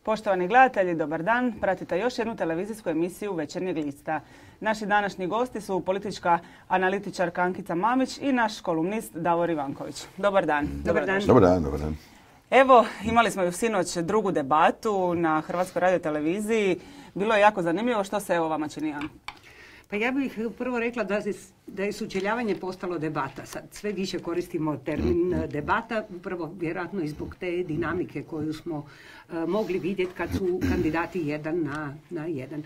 Poštovani gledatelji, dobar dan. Pratite još jednu televizijsku emisiju Večernjeg lista. Naši današnji gosti su politička analitičarka Ankica Mamić i naš kolumnist Davor Ivanković. Dobar dan. Dobar dan. Dobar dan. Evo, imali smo ju sinoć drugu debatu na Hrvatskoj radioteleviziji. Bilo je jako zanimljivo. Što se vama čini? Pa ja bih prvo rekla da je sučeljavanje postalo debata. Sad sve više koristimo termin debata, prvo vjerojatno i zbog te dinamike koju smo mogli vidjeti kad su kandidati jedan na jedan.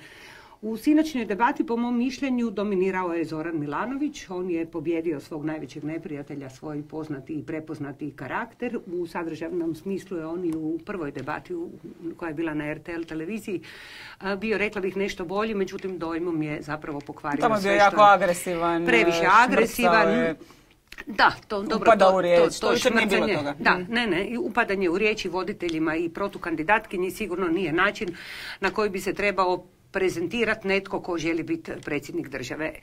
U sinoćnoj debati, po mom mišljenju, dominirao je Zoran Milanović. On je pobjedio svog najvećeg neprijatelja, svoj poznati i prepoznati karakter. U sadržajnom smislu je on i u prvoj debati koja je bila na RTL televiziji bio, rekla bih, nešto bolji, međutim dojmom je zapravo pokvario sve što je. Tamo je bio jako agresivan. Previše agresivan. Da, upada u riječ, to više nije bilo toga. Da, ne, upadanje u riječi voditeljima i protukandidatkinji sigurno nije način na koji bi se trebao prezentirati netko ko želi biti predsjednik države.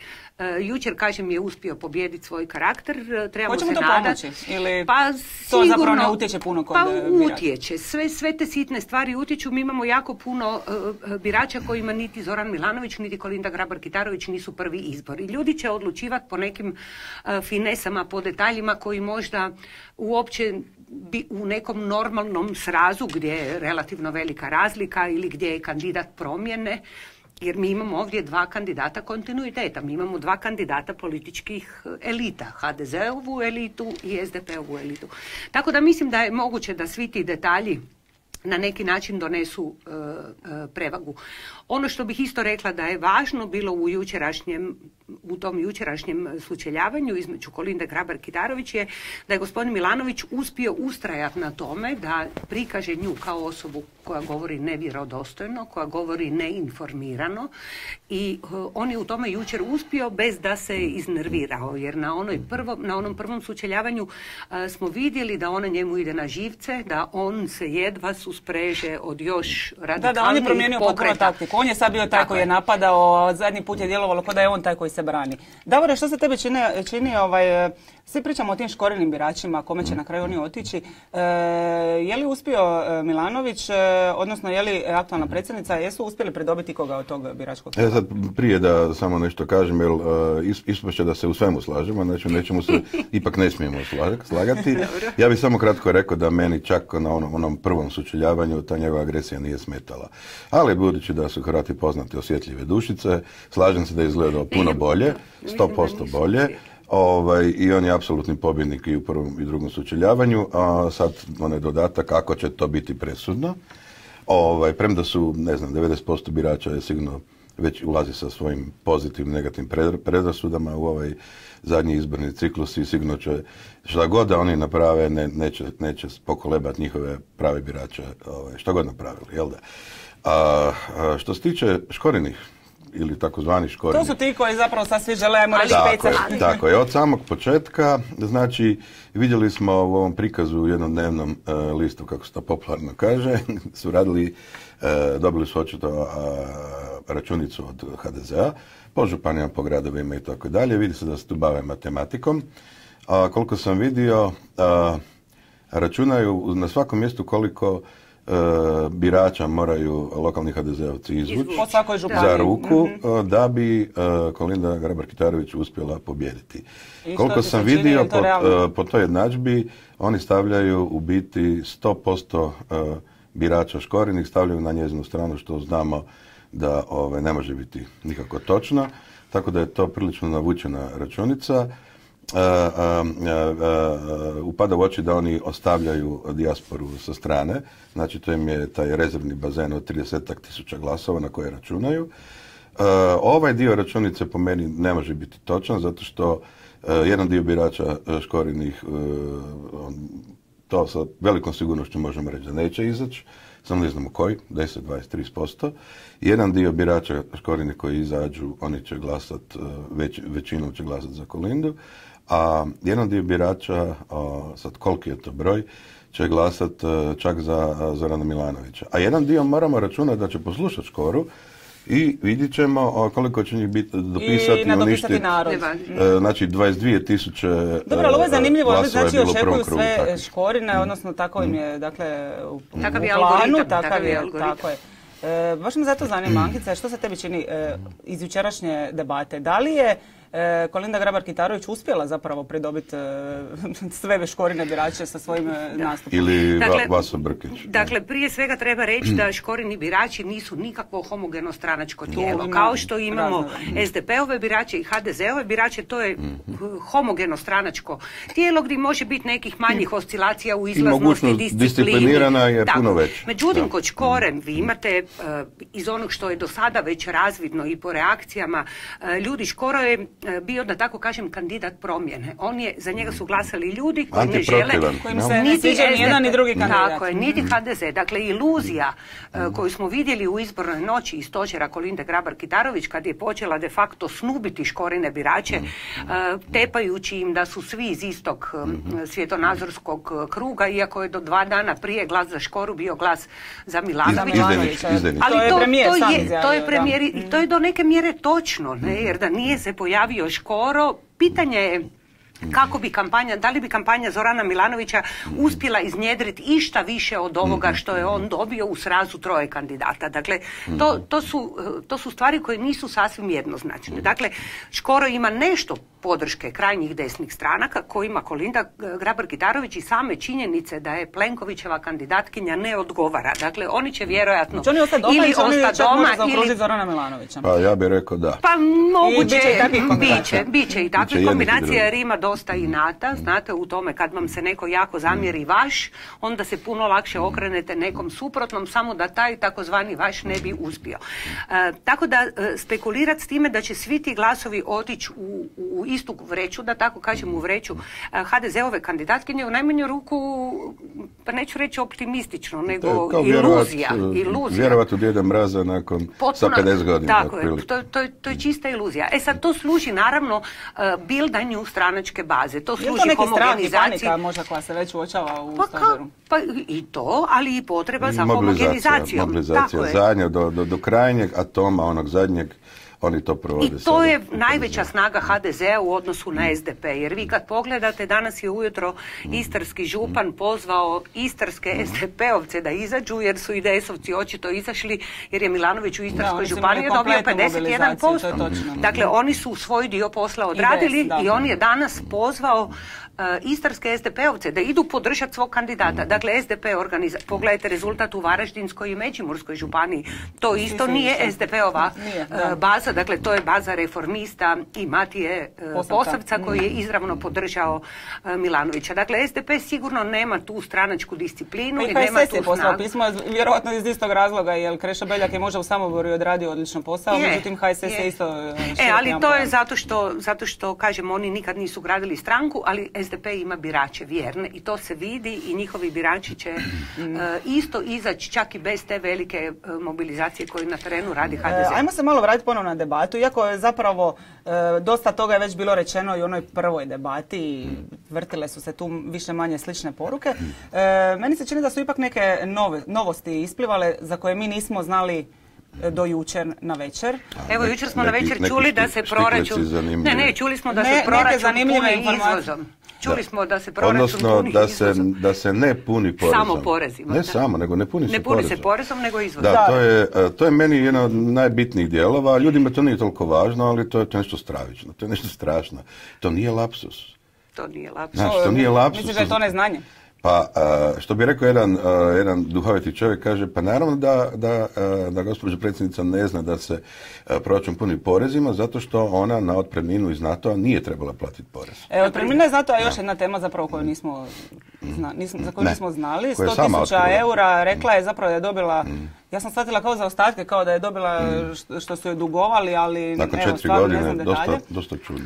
Jučer, kažem, je uspio pobijediti svoj karakter. Trebamo se nadati. Hoće mu to pomoći? Ili pa, to zapravo ne utječe puno kod birača? Utječe. Sve te sitne stvari utječu. Mi imamo jako puno birača kojima niti Zoran Milanović, niti Kolinda Grabar-Kitarović nisu prvi izbor. I ljudi će odlučivati po nekim finesama, po detaljima koji možda uopće u nekom normalnom srazu gdje je relativno velika razlika ili gdje je kandidat promjene, jer mi imamo ovdje dva kandidata kontinuiteta. Mi imamo dva kandidata političkih elita, HDZ-ovu elitu i SDP-ovu elitu. Tako da mislim da je moguće da svi ti detalji na neki način donesu prevagu. Ono što bih isto rekla da je važno bilo u tom jučerašnjem sučeljavanju između Kolinde Grabar-Kitarović je da je gospodin Milanović uspio ustrajati na tome da prikaže nju kao osobu koja govori nevjerodostojno, koja govori neinformirano i on je u tome jučer uspio bez da se iznervirao, jer na onom prvom sučeljavanju smo vidjeli da ona njemu ide na živce, da on se jedva suspreže od još radikalnijih Da, on je promijenio potpuno taktiku. On je sad bio taj koji je napadao, zadnji put je djelovalo kao da je on taj koji se brani. Davore, što se tebe čini svi pričamo o tim Škorinim biračima, kome će na kraju oni otići. Je li uspio Milanović, odnosno je li aktualna predsjednica, jesu uspjeli pridobiti koga od tog biračkog? Sad prije da samo nešto kažem, jer ispašće da se u svemu slažemo, znači u nečemu se ipak ne smijemo slagati. Ja bih samo kratko rekao da meni čak na onom prvom sučeljavanju ta njegova agresija nije smetala. Ali budući da su Hrvati poznati osjetljive dušice, slažem se da je izgledao puno bolje, 100% bolje. I on je apsolutni pobjednik i u prvom i drugom sučeljavanju, a sad onaj dodatak kako će to biti presudno. Premda su, 90% birača je sigurno već ulazi sa svojim pozitivnim, negativnim predrasudama u ovaj zadnji izborni ciklus i sigurno će, šta god da oni naprave, neće pokolebati njihove prave birače, šta god napravili, jel da? Što se tiče Škorinih, ili takozvani Škorini. To su ti koji zapravo sad svi žele, ajmo reći, pecati. Tako je, od samog početka, znači, vidjeli smo u ovom prikazu u jednodnevnom listu, kako se to popularno kaže, su radili, dobili su očito računicu od HDZ-a, po županijama, po gradovima i tako dalje, vidi se da se tu bave matematikom. Koliko sam vidio, računaju na svakom mjestu koliko birača moraju lokalni HDZ-ovci izvući za ruku da bi Kolinda Grabar-Kitarović uspjela pobijediti. Koliko sam vidio po toj jednadžbi, oni stavljaju u biti 100% birača Škorinih, stavljaju na njezinu stranu, što znamo da ne može biti nikako točno, tako da je to prilično navučena računica. Upada u oči da oni ostavljaju dijasporu sa strane, znači to im je taj rezervni bazen od 30.000 glasova na koje računaju. Ovaj dio računice po meni ne može biti točan, zato što jedan dio birača Škorinih, to sa velikom sigurnošću možemo reći da neće izaći, samo ne znamo koji, 10, 20, 30%. Jedan dio birača Škorinih koji izađu, oni će glasati, većinom će glasati za Kolindu, a jedan dio birača, sad koliki je to broj, će glasati čak za Zorana Milanovića. A jedan dio moramo računati da će poslušati Škoru, i vidjet ćemo koliko će njih dopisati i nadopisati narod. Znači 22.000 Dobro, ali ovo je zanimljivo, znači očekuju sve tako. Škorine, odnosno tako im je, dakle, u planu, takav je algoritam. Tako je. Baš me zato zanima, Ankica, što se tebi čini iz jučerašnje debate? Da li je Kolinda Grabar-Kitarović uspjela zapravo pridobiti sve Škorine birače sa svojim nastupom? Ili Vaso Brkić? Dakle, prije svega treba reći da Škorini birači nisu nikakvo homogeno stranačko tijelo. Kao što imamo SDP-ove birače i HDZ-ove birače, to je homogeno stranačko tijelo gdje može biti nekih manjih oscilacija u izlaznosti, disciplini. Disciplinirana je puno već. Međutim, kod Škoren vi imate iz onog što je do sada već razvidno i po reakcijama ljudi, Škoro je bio, da tako kažem, kandidat promjene. Za njega su glasali ljudi koji ne žele, kojim se ne sviđa ni jedan ni drugi kandidat. Tako je, niti HDZ. Dakle, iluzija koju smo vidjeli u izbornoj noći iz stožera Kolinde Grabar-Kitarović, kad je počela de facto snubiti Škorine birače, tepajući im da su svi iz istog svjetonazorskog kruga, iako je do 2 dana prije glas za Škoru bio glas za Milanovića. Ali to je do neke mjere točno, jer da nije se pojavio Škoro, pitanje je kako bi kampanja, da li bi kampanja Zorana Milanovića uspjela iznjedriti išta više od ovoga što je on dobio u srazu 3 kandidata. Dakle, to su stvari koje nisu sasvim jednoznačne. Dakle, Škoro ima nešto podrške krajnjih desnih stranaka kojima Kolinda Grabar-Kitarović i same činjenice da je Plenkovićeva kandidatkinja ne odgovara. Dakle, oni će vjerojatno ili ostati doma ili Zorana Milanovića. Pa ja bih rekao da. Pa moguće, biće i takvih kombinacija jer ima dosta inata. Znate, u tome kad vam se neko jako zamjeri vaš, onda se puno lakše okrenete nekom suprotnom, samo da taj takozvani vaš ne bi uspio. Tako da spekulirati s time da će svi ti glasovi otići u istu vreću, da tako kažem, u vreću HDZ-ove kandidatkinje, u najmanju ruku, pa neću reći optimistično, nego iluzija. Vjerovat u Djeda Mraza nakon sa 50 godina. Tako je, to je čista iluzija. Sad to služi naravno bildanju stranačke baze. To služi homogenizaciji. Je to neki strah i panika možda koja se već uočava u stožeru? Pa i to, ali i potreba za homogenizacijom. Mobilizacija zadnja do krajnjeg atoma, onog zadnjeg. Oni to provode. I to je najveća snaga HDZ-a u odnosu na SDP. Jer vi kad pogledate, danas je ujutro istarski župan pozvao istarske SDP-ovce da izađu, jer su IDS-ovci očito izašli, jer je Milanović u Istarskoj županiji dobio 51%. Dakle, oni su svoj dio posla odradili i on je danas pozvao istarske SDP-ovce da idu podržati svog kandidata. Dakle, SDP pogledajte rezultat u Varaždinskoj i Međimurskoj županiji. To isto nije SDP-ova baza, dakle to je baza reformista i Matije Posavca koji je izravno podržao Milanovića. Dakle, SDP sigurno nema tu stranačku disciplinu i nema tu snagu. Poslao pismo, vjerojatno iz istog razloga, jer Krešo Beljak je možda u Samoboru odradio odlično posao, međutim HSS je isto... ali to je zato što, kažem, oni nikad nisu gradili stranku, ali SDP ima birače vjerne i to se vidi i njihovi birači će isto izaći čak i bez te velike mobilizacije koju na terenu radi HDZ. Ajmo se malo vratiti ponovno na debatu, iako je zapravo dosta toga je već bilo rečeno i u onoj prvoj debati, vrtile su se tu više manje slične poruke. Meni se čini da su ipak neke novosti isplivale za koje mi nismo znali do jučer na večer. Evo, jučer smo na večer čuli da se proračun... čuli smo da se proračun puni izvozom. Čuli smo da se proračun puni izvozom. Da se ne puni porezom. Samo porezima. Ne samo, nego ne puni se porezom. Ne puni se porezom, nego izvozom. Da, to je meni jedan od najbitnijih dijelova. Ljudima to nije toliko važno, ali to je nešto stravično. To je nešto strašno. To nije lapsus. To nije lapsus. Znači, to nije lapsus. Misliš da je to neznanje? Pa, što bi rekao jedan duhoviti čovjek, kaže, pa naravno da gospođa predsjednica ne zna da se proračun puni porezima, zato što ona na otpremninu iz NATO-a nije trebala platiti porez. Otpremnina iz NATO-a je još jedna tema zapravo koju nismo znali. 100.000 eura, rekla je zapravo da je dobila... Ja sam shvatila kao za ostatke, kao da je dobila što su je dugovali, ali nakon evo, 4 godine, dosta čudno.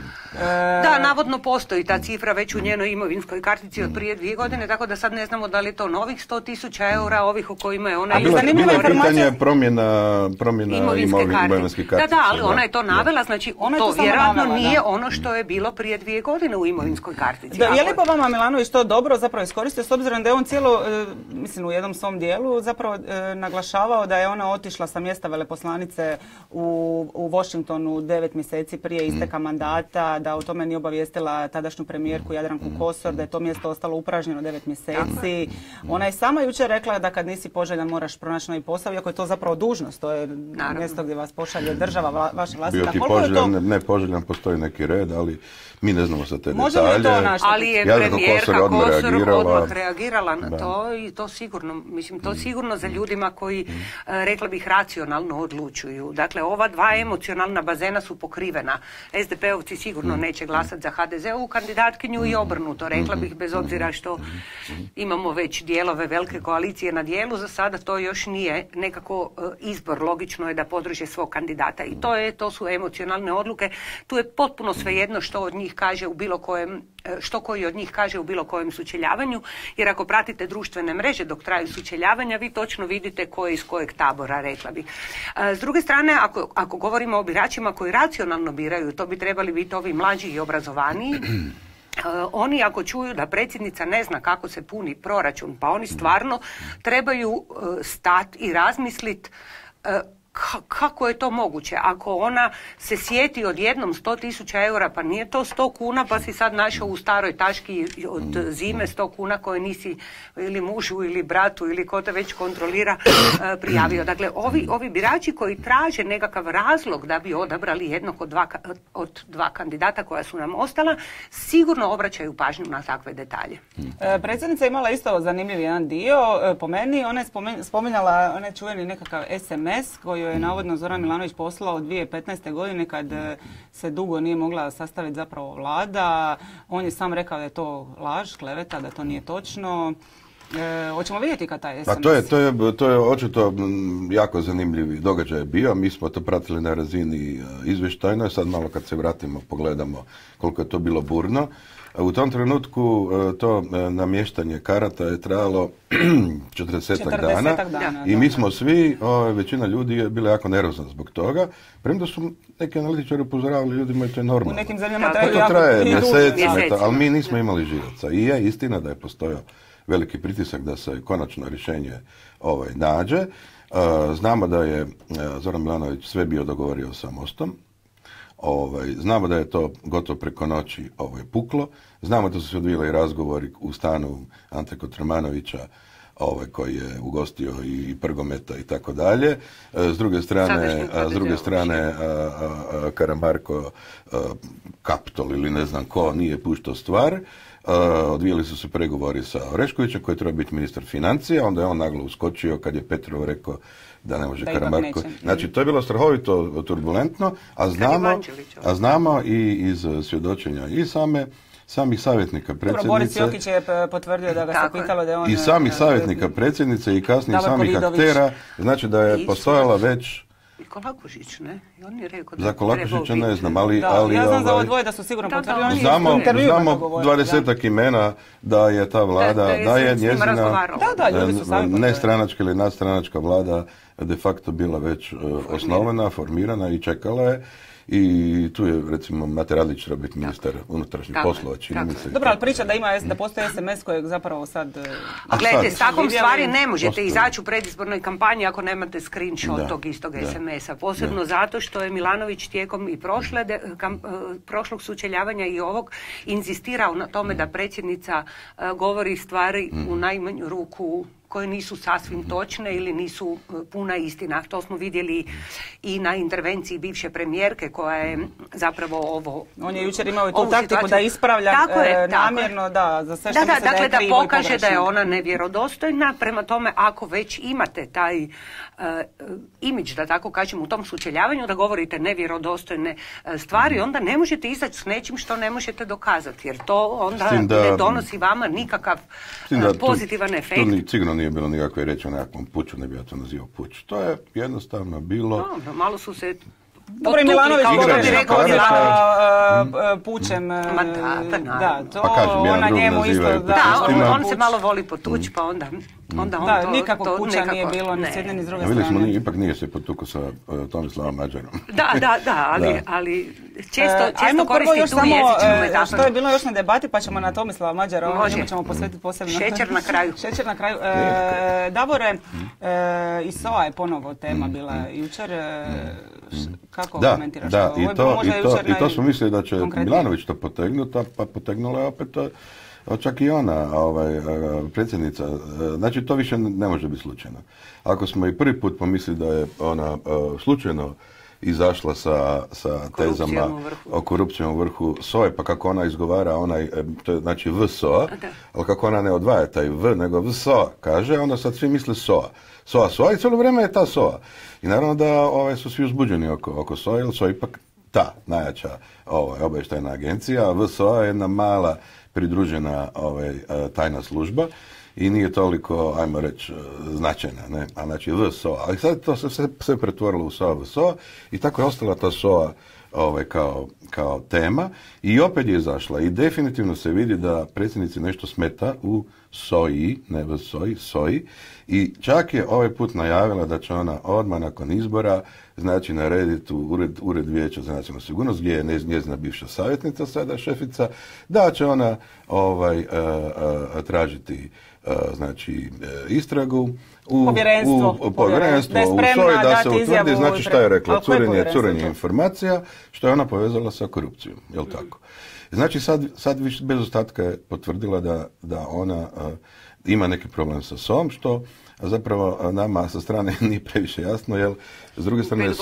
Da, navodno postoji ta cifra već u njenoj imovinskoj kartici od prije 2 godine, tako da sad ne znamo da li je to novih 100.000 eura, ovih o kojima je ona... Bilo je pitanje promjena imovinske kartice. Da, ali ona je to navela, znači to vjerojatno nije ono što je bilo prije 2 godine u imovinskoj kartici. Je li po vama Milanović to dobro zapravo iskoristio, s obzirom da je on cijelo, mislim u jednom svom dijelu zapravo naglašava spočitavao da je ona otišla sa mjesta veleposlanice u Washingtonu 9 mjeseci prije isteka mandata, da o tome nije obavijestila tadašnju premijerku Jadranku Kosor, da je to mjesto ostalo upražnjeno 9 mjeseci. Ona je sama jučer rekla da kad nisi poželjan moraš pronaći novi posao, iako je to zapravo dužnost, to je mjesto gdje vas pošalje država, vaša vlastita. Bio ti poželjan, ne poželjan, postoji neki red, ali mi ne znamo sa te detalje. Ali je premijerka Kosor odmah reagirala na to i to sigurno, mislim, to sigurno za ljudima koji, rekla bih, racionalno odlučuju. Dakle, ova dva emocionalna bazena su pokrivena. SDP-ovci sigurno neće glasati za HDZ-ovu kandidatkinju i obrnuto, rekla bih, bez obzira što imamo već dijelove velike koalicije na dijelu, za sada to još nije nekako izbor. Logično je da podrže svog kandidata i to su emocionalne odluke. Tu je potpuno svejedno što od njih kaže u bilo kojem, što koji od njih kaže u bilo kojem sučeljavanju, jer ako pratite društvene mreže dok traju sučeljavanja, vi točno vidite ko je iz kojeg tabora, rekla bih. S druge strane, ako govorimo o biračima koji racionalno biraju, to bi trebali biti ovi mlađi i obrazovaniji. Oni ako čuju da predsjednica ne zna kako se puni proračun, pa oni stvarno trebaju stati i razmisliti kako je to moguće? Ako ona se sjeti odjednom 100.000 eura, pa nije to 100 kuna, pa si sad našao u staroj taški od zime 100 kuna koje nisi ili mužu ili bratu ili ko te već kontrolira prijavio. Dakle, ovi birači koji traže nekakav razlog da bi odabrali jednog od dva kandidata koja su nam ostala, sigurno obraćaju pažnju na takve detalje. Predsjednica je imala isto zanimljiv jedan dio. Po meni, ona je spominjala onaj čuveni nekakav SMS koji je navodno Zoran Milanović poslao 2015. godine kad se dugo nije mogla sastaviti zapravo vlada. On je sam rekao da je to laž, kleveta, da to nije točno. Hoćemo vidjeti kad taj SMS... To je očito jako zanimljiv događaj bio. Mi smo to pratili na razini izvještajnoj. Sad malo kad se vratimo pogledamo koliko je to bilo burno. U tom trenutku to namještanje karata je trajalo 40 dana i mi smo svi, većina ljudi je bila jako nervozna zbog toga, premda su neki analitičari upozoravali ljudima i to je normalno. U nekim zemljama traje mjeseci, ali mi nismo imali živaca. I je istina da je postojao veliki pritisak da se konačno rješenje nađe. Znamo da je Zoran Milanović sve bio dogovorio sa Mostom. Znamo da je to gotovo preko noći puklo. Znamo da su se odvijali razgovori u stanu Ante Kotromanovića koji je ugostio i Prgometa i tako dalje. S druge strane Karamarko, Kaptol ili ne znam ko nije puštao stvar. Odvijali su se pregovori sa Oreškovićem koji treba biti ministar financija, onda je on naglo uskočio kad je Petrov rekao da ne može Karamarko. Znači, to je bilo strahovito turbulentno, a znamo i iz svjedočenja i samih savjetnika predsjednice. Dobro, Boris Jokić je potvrdio da ga se pitalo da je on... I samih savjetnika predsjednice i kasnije samih aktera, znači da je postojala već... I Kolakušić, ne? I on je rekao za Kolakušića ne znam, ali... Ja znam za ovo dvoje da su sigurno potvrdili. Znamo 20 imena da je ta vlada, da je njezina nestranačka ili nadstranačka vlada de facto bila već osnovana, formirana i čekala je. I tu je, recimo, Mate Radlić treba biti ministar unutrašnjih poslova, čini mi se. Dobro, ali priča da postoji SMS kojeg zapravo sad... A gledajte, s takvom stvari ne možete izaći u predizbornoj kampanji ako nemate screenshot tog istog SMS-a. Posebno zato što je Milanović tijekom i prošlog sučeljavanja i ovog inzistirao na tome da predsjednica govori stvari u najmanju ruku koje nisu sasvim točne ili nisu puna istina. To smo vidjeli i na intervenciji bivše premijerke koja je zapravo ovo... On je jučer imao i tu taktiku da ispravlja namjerno za sve što misle da je krivo i pogrešno. Da pokaže da je ona nevjerodostojna. Prema tome, ako već imate taj imidž, da tako kažem, u tom sučeljavanju, da govorite nevjerodostojne stvari, onda ne možete izaći s nečim što ne možete dokazati, jer to onda ne donosi vama nikakav pozitivan efekt. Tu sigurno nije bilo nikakve reći o nekakvom puču, ne bi ja to nazivao puč. To je jednostavno bilo... Dobro, malo su se... Dobro, i Milanović rekao pučem. Ma da, to ona njemu isto... Da, on se malo voli potući, pa onda... onda on Da, nikakvog puča nije bilo ni s jedne ni s druge Vidjeli strane. smo, ipak nije se potukao sa Tomislavom Mađarom. Da, ali često Ajmo prvo koristi još tu samo jezičnu metaforu. što je bilo još na debati, pa ćemo na Tomislava Mađara, Može. njemu ćemo posvetiti posebno. Šećer na kraju. Šećer na kraju. Davore, i SOA je ponovo tema bila jučer. Kako komentiraš to? Ovo je bilo možda jučer i to smo mislili da će najkonkretnije. Milanović to potegnuti, pa potegnula je opet čak i ona, predsjednica. Znači, to više ne može biti slučajno. Ako smo i prvi put pomislili da je ona slučajno izašla sa tezama o korupcijom u vrhu SOA, pa kako ona izgovara to je znači VSOA, ali kako ona ne odvaja taj V, nego VSOA kaže, onda sad svi misle SOA. SOA i cijelo vrijeme je ta SOA. I naravno da su svi uzbuđeni oko SOA, jer SOA ipak ta najjača obavještajna agencija, a VSOA je jedna mala pridružena tajna služba i nije toliko, ajmo reći, značajna, ne? A znači VSOA. Ali sad to se sve pretvorilo u SOA, VSOA i tako je ostala ta SOA kao tema i opet je izašla i definitivno se vidi da predsjednici nešto smeta u SOI, ne VSOI, SOI i čak je ovaj put najavila da će ona odmah nakon izbora znači narediti u ured Vijeća za nacionalnu sigurnost gdje je njezina bivša savjetnica, sada šefica, da će ona tražiti znači istragu u povjerenstvo u SOI da se utvrdi, znači šta je rekla, curenje informacija, što je ona povezala sa korupcijom, jel tako? Znači sad više bez ostatka je potvrdila da ona ima neki problem sa SOA-om, što zapravo nama sa strane nije previše jasno, jer s druge strane je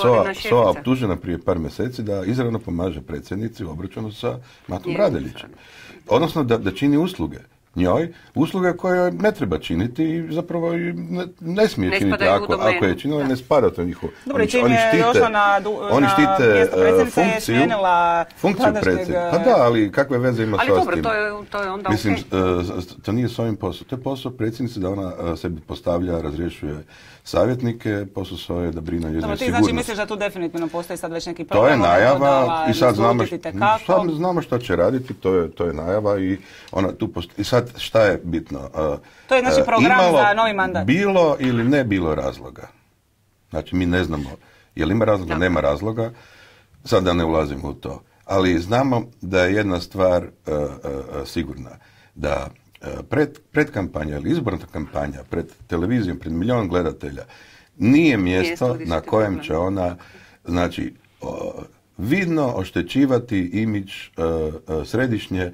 SOA optužena prije par mjeseci da izravno pomaže predsjednici u obračunu sa Matom Radeljićem. Odnosno da čini usluge njoj, usluge koje ne treba činiti i zapravo ne smije činiti ako je činila, ne spada to njihovo. Dobro, čim je došla na mjesto predsjednice je smijenila predsjednika. Pa da, ali kakve veze ima s tim? Ali dobro, to je onda mislim, to nije s ovim posao. To je posao predsjednice da ona sebi postavlja, razrješuje savjetnike, posao svoje da brine o njezinoj sigurnosti. Znači misliš da tu definitivno postoji sad već neki problem? To je najava i sad znamo šta će raditi, to je najava i ona tu postoji. I sad šta je bitno? To je znači program za novi mandat. Bilo ili ne bilo razloga. Znači mi ne znamo je li ima razloga, nema razloga, sad da ne ulazimo u to. Ali znamo da je jedna stvar sigurna, da pred kampanja ili izborna kampanja, pred televizijom, pred milion gledatelja, nije mjesto na kojem će ona, znači, vidno oštećivati imidž središnje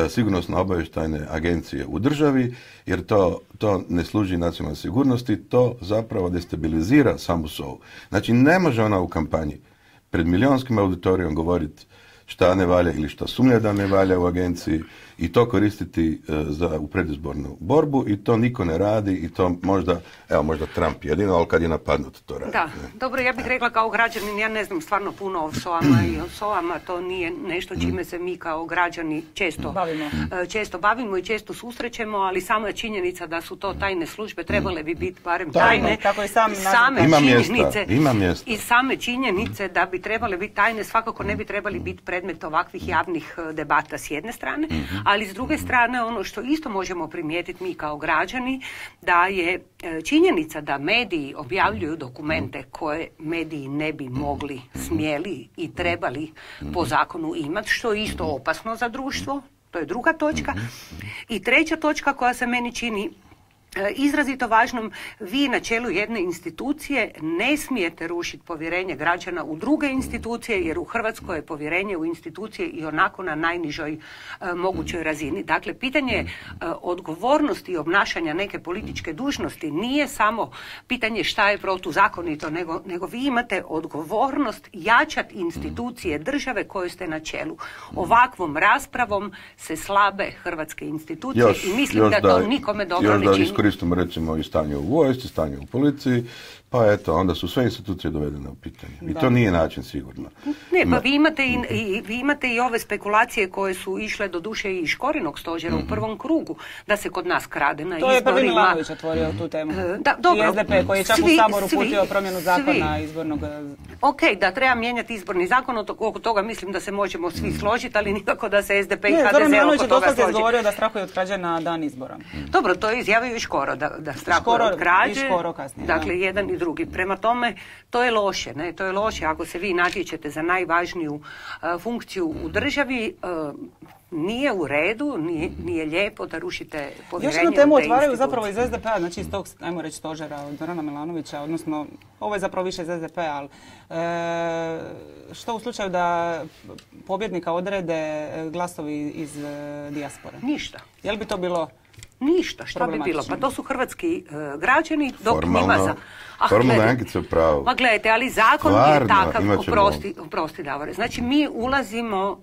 sigurnosno obavještajne agencije u državi, jer to ne služi nacionalnoj sigurnosti, to zapravo destabilizira samu SOA-u. Znači, ne može ona u kampanji pred milionskim auditorijom govoriti šta ne valja ili šta sumnja da ne valja u agenciji i to koristiti u predizbornu borbu i to niko ne radi i to možda Trump jedino, ali kad je napadnut to radi. Da, dobro, ja bih rekla kao građanin, ja ne znam stvarno puno o SOA-ma i o SOA-ma, to nije nešto čime se mi kao građani često bavimo i često susrećemo, ali sama činjenica da su to tajne službe trebale bi biti barem tajne. Kako je same činjenice i same činjenice da bi trebale biti tajne svakako ne bi trebali biti predmet ovakvih javnih debata s jedne strane, ali s druge strane ono što isto možemo primijetiti mi kao građani, da je činjenica da mediji objavljuju dokumente koje mediji ne bi mogli, smjeli i trebali po zakonu imati, što je isto opasno za društvo, to je druga točka. I treća točka koja se meni čini izrazito važnom, vi na čelu jedne institucije ne smijete rušiti povjerenje građana u druge institucije, jer u Hrvatskoj je povjerenje u institucije i onako na najnižoj mogućoj razini. Dakle, pitanje odgovornosti i obnašanja neke političke dužnosti nije samo pitanje šta je protuzakonito, nego vi imate odgovornost jačati institucije države koje ste na čelu. Ovakvom raspravom se slabe hrvatske institucije i mislim da to nikome dobro ne čini. Koristimo recimo i stanje u vojsci, stanje u policiji, pa eto, onda su sve institucije dovedene u pitanje. I to nije način sigurno. Ne, pa vi imate i ove spekulacije koje su išle do duše i iz Škorinog stožera u prvom krugu, da se kod nas krade na izborima. To je prvi Milanović otvorio tu temu. I SDP koji je čak u Saboru uputio promjenu zakona izbornog. Ok, da treba mijenjati izborni zakon, oko toga mislim da se možemo svi složiti, ali nikako da se SDP i HDZ oko toga složi. Milanović je dosta izgovorio da strahuje od krađe na dan izbora. Dobro, to je izjavio i Škorić. Škoro da strahuje od krađe. Škoro kasnije, dakle, jedan i drugi. Prema tome, to je loše. Ne? To je loše ako se vi natječete za najvažniju funkciju u državi. Nije u redu, nije lijepo da rušite povjerenje. Još jednu temu otvaraju zapravo iz SDP-a, znači iz tog, ajmo reći, stožera od Zorana Milanovića, odnosno, ovo je zapravo više iz SDP-a, ali što u slučaju da pobjednika odrede glasovi iz dijaspore? Ništa. Je li bi to bilo ništa, šta bi bilo? Pa to su hrvatski građani, dok formalno, njima za... formalno Ankica pravo. Ma gledajte, ali zakon je takav, oprosti Davore. Znači, mi ulazimo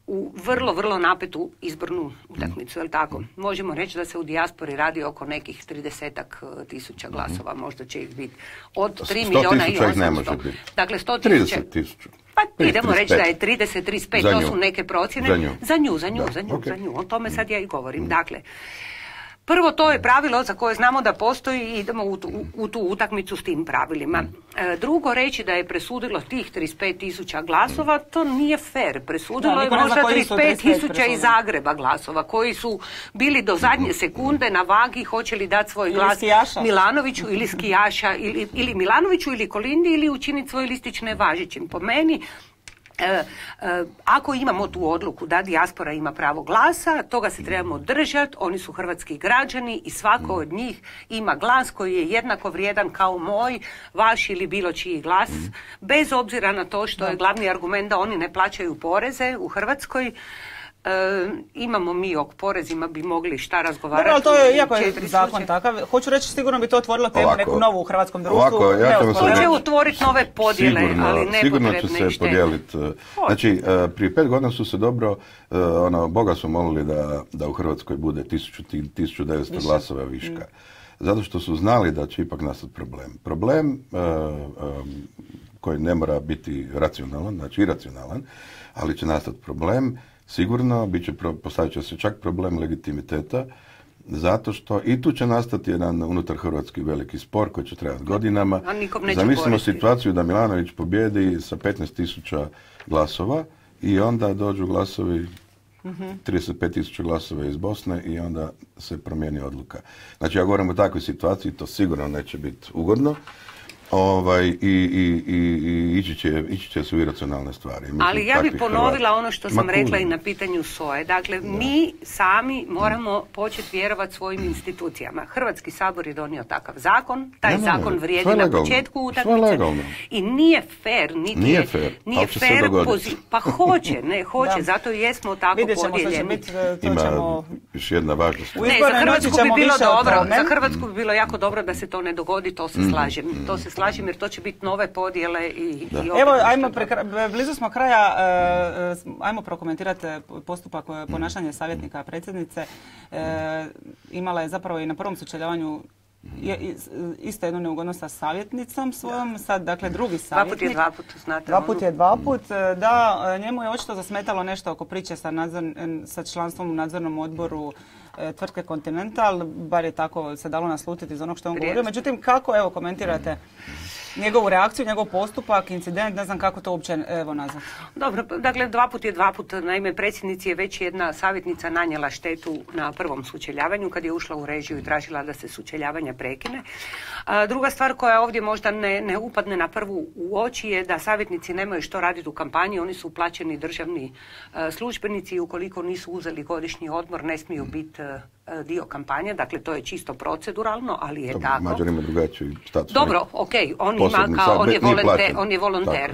u vrlo, vrlo napetu izbornu utakmicu, je li tako? Možemo reći da se u dijaspori radi oko nekih 30.000 glasova, možda će ih biti od 3 milijuna i 800. Dakle, 100.000. 30.000. Pa idemo reći da je 30-35, to su neke procjene. Za nju. O tome sad ja i govorim. Dakle, prvo, to je pravilo za koje znamo da postoji i idemo u tu utakmicu s tim pravilima. Drugo, reći da je presudilo tih 35.000 glasova, to nije fair. Presudilo je možda 35.000 iz Zagreba glasova, koji su bili do zadnje sekunde na vagi, hoće li dati svoj glas Milanoviću ili skijaša, ili Milanoviću ili Kolindi, ili učiniti svoj listić nevažećim. Po meni, ako imamo tu odluku da dijaspora ima pravo glasa, toga se trebamo držati, oni su hrvatski građani i svako od njih ima glas koji je jednako vrijedan kao moj, vaš ili bilo čiji glas, bez obzira na to što je glavni argument da oni ne plaćaju poreze u Hrvatskoj. Imamo mi o porezima bi mogli šta razgovarati. Dobro, ali to je, iako je zakon takav, hoću reći, sigurno bi to otvorilo temu neku novu u hrvatskom društvu. To će otvoriti nove podjele, ali nepotrebne. Sigurno će se podijeliti. Znači, prije 5 godina su se dobro, Boga su molili da u Hrvatskoj bude 1900 glasova viška. Zato što su znali da će ipak nastati problem. Problem koji ne mora biti racionalan, znači iracionalan, ali će nastati problem. Sigurno, postavit će se čak problem legitimiteta, zato što i tu će nastati jedan unutar hrvatski veliki spor koji će trebati godinama. Zamislimo situaciju da Milanović pobjedi sa 15.000 glasova i onda dođu glasovi, 35.000 glasova iz Bosne i onda se promijeni odluka. Znači, ja govorim o takvoj situaciji, to sigurno neće biti ugodno. I ići će se u iracionalne stvari. Ali ja bih ponovila ono što sam rekla i na pitanju SOA-e. Dakle, mi sami moramo početi vjerovati svojim institucijama. Hrvatski sabor je donio takav zakon, taj zakon vrijedi na početku utakmice i nije fair, nije fair pa hoće, zato i jesmo tako podijeljeni. Ima još jedna važna stvar. Za Hrvatsku bi bilo dobro, za Hrvatsku bi bilo jako dobro da se to ne dogodi, to se slažem. To se slažem jer to će biti nove podjele i evo, blizu smo kraja, ajmo prokomentirati postupak ponašanja savjetnika predsjednice. Imala je zapravo i na prvom sučeljavanju isto jednu neugodnost sa savjetnicom svojom, sad dakle drugi savjetnik. Dva put je dva put, da, njemu je očito zasmetalo nešto oko priče sa članstvom u nadzornom odboru tvrtke Continental, bar je tako se dalo naslutiti iz onog što on govorio. Međutim, kako, evo, komentirate njegovu reakciju, njegov postupak, incident, ne znam kako to uopće nazvati. Dobro, dakle, dva put je dva put. Naime, predsjednici je već jedna savjetnica nanijela štetu na prvom sučeljavanju kad je ušla u režiju i tražila da se sučeljavanja prekine. Druga stvar koja ovdje možda ne upadne na prvu u oči je da savjetnici nemaju što raditi u kampanji, oni su plaćeni državni službenici i ukoliko nisu uzeli godišnji odmor ne smiju biti dio kampanje, dakle to je čisto proceduralno, ali je tako. Mađar ima drugačiji status. Dobro, okej, on je volonter.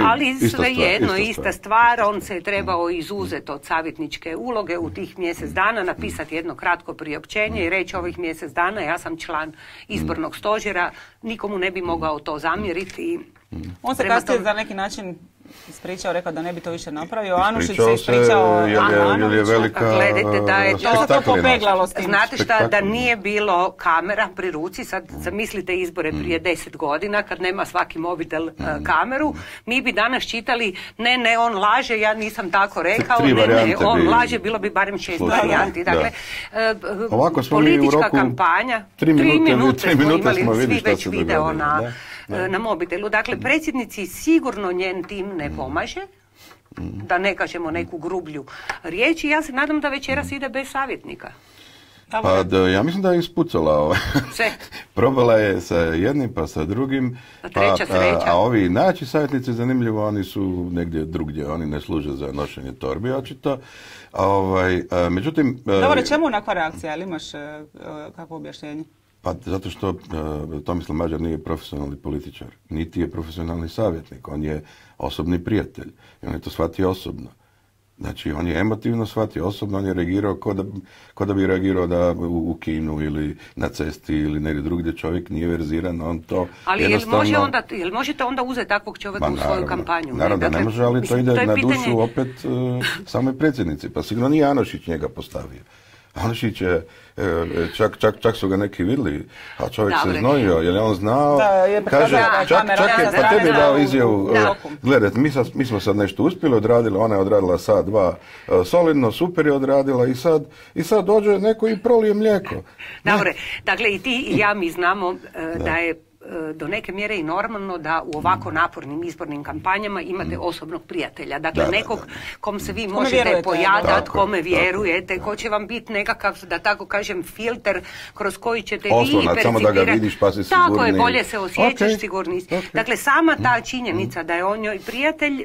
Ali svejedno, ista stvar, on se je trebao izuzeti od savjetničke uloge u tih mjesec dana, napisati jedno kratko priopćenje i reći ovih mjesec dana ja sam član izbornog stožera, nikomu ne bi mogao to zamjeriti. On se kasnije za neki način ispričao, rekao da ne bi to više napravio. Anušić se ispričao. Gledajte da je to popeglalo s tim. Znate šta, da nije bilo kamera pri ruci, sad zamislite izbore prije 10 godina kad nema svaki mobitel kameru, mi bi danas čitali ne, on laže, ja nisam tako rekao, ne, on laže, bilo bi barem 6 varijanti. Dakle, politička kampanja, 3 minute smo imali svi već video na mobitelu. Dakle, predsjednici sigurno njen tim ne pomaže, da ne kažemo neku grublju riječ i ja se nadam da večeras ide bez savjetnika. Pa ja mislim da je ispucala probala je sa jednim pa sa drugim, a ovi naći savjetnici, zanimljivo, oni su negdje drugdje, oni ne služe za nošenje torbi očito. Međutim... Dobro, čemu onakva reakcija, ali imaš kakvo objašnjenje? Pa zato što Tomislav Mađar nije profesionalni političar, niti je profesionalni savjetnik, on je osobni prijatelj i on je to shvatio osobno. Znači, on je emotivno shvatio osobno, on je reagirao ko da bi reagirao u kinu ili na cesti ili negdje drugdje, čovjek nije verziran, on to ali jednostavno... jel možete onda uzeti takvog čovjeka u svoju kampanju? Naravno da ne može, ali to ide na dušu opet samoj predsjednici, pa sigurno nije Anušić njega postavio. Anušić je, čak su ga neki vidjeli, a čovjek se znojio, jer je on znao, kaže, čak je pa tebi dao izjavu, gledajte, mi smo sad nešto uspjeli, odradili, ona je odradila sat, dva, solidno, super je odradila i sad dođe neko i prolije mlijeko. Dobre, dakle i ti i ja mi znamo da je do neke mjere i normalno da u ovako napornim izbornim kampanjama imate osobnog prijatelja. Dakle, nekog kom se vi možete pojadati, kome vjerujete, ko će vam biti nekakav, da tako kažem, filter kroz koji ćete vi percipirati. Samo da ga vidiš pa si sigurni. Tako je, bolje se osjećaš, sigurni. Dakle, sama ta činjenica da je on njoj prijatelj,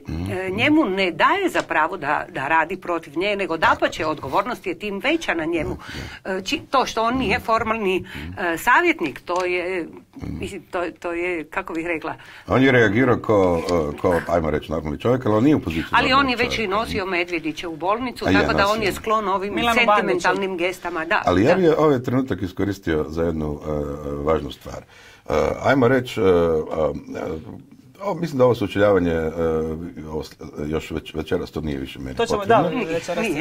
njemu ne daje za pravo da radi protiv nje, nego dapače, odgovornost je tim veća na njemu. To što on nije formalni savjetnik, to je, mislim, to je, kako bih rekla... On je reagirao ko ajmo reći, normalni čovjek, ali on nije u poziciji. Ali on je već i nosio Medvjedića u bolnicu, tako da on je sklon ovim sentimentalnim gestama. Da, ali ja bih ovaj trenutak iskoristio za jednu važnu stvar. Ajmo reći, mislim da ovo sučeljavanje još večeras to nije više meni potrebno.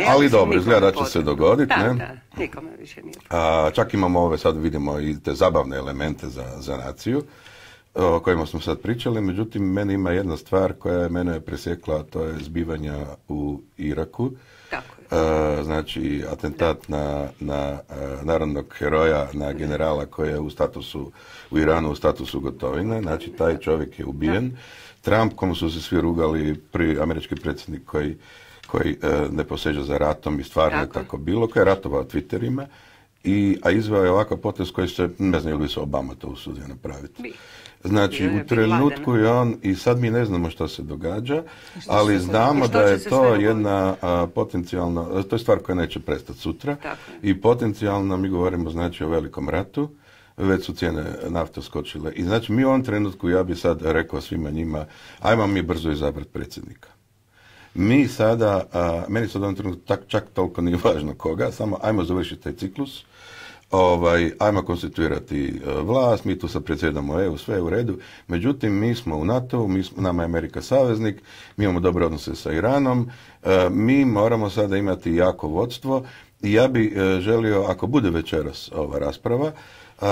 Ali dobro, izgleda da će se dogoditi. Da, nikome više nije. Čak imamo sad vidimo i te zabavne elemente za naciju o kojima smo sad pričali, međutim meni ima jedna stvar koja je mene presjekla, to je zbivanja u Iraku. Znači atentat na narodnog heroja, na generala koji je u Iranu u statusu Gotovine, znači taj čovjek je ubijen. Trump, komu su se svi rugali, prvi američki predsjednik koji ne poseže za ratom i stvarno je tako bilo, koji je ratovao Twitterima, a izveo je ovakav potez koji se, ne znam ili bi se Obama to usudio napraviti. Znači, u trenutku je on, i sad mi ne znamo što se događa, ali znamo da je to jedna potencijalna, to je stvar koja neće prestati sutra, i potencijalno mi govorimo znači o velikom ratu, već su cijene nafte skočile. I znači mi u ovom trenutku, ja bi sad rekao svima njima, ajmo mi brzo izabrati predsjednika. Mi sada, meni sad u ovom trenutku čak toliko nije važno koga, samo ajmo završiti taj ciklus, ajmo konstituirati vlast, mi tu sad predsjedamo EU, sve je u redu, međutim mi smo u NATO-u, nama je Amerika saveznik, mi imamo dobre odnose sa Iranom, mi moramo sada imati jako vodstvo i ja bi želio, ako bude večeras ova rasprava,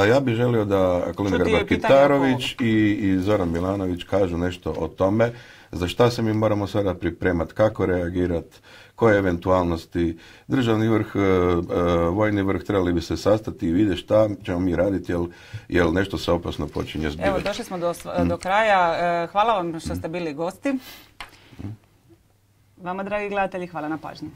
ja bih želio da Kolinda Grabar-Kitarović i Zoran Milanović kažu nešto o tome, za šta se mi moramo sada pripremati, kako reagirati, koje eventualnosti, državni vrh, vojni vrh trebali bi se sastati i vidjeti šta ćemo mi raditi, jer nešto se opasno počinje zbivati. Evo, došli smo do kraja. Hvala vam što ste bili gosti. Vama, dragi gledatelji, hvala na pažnji.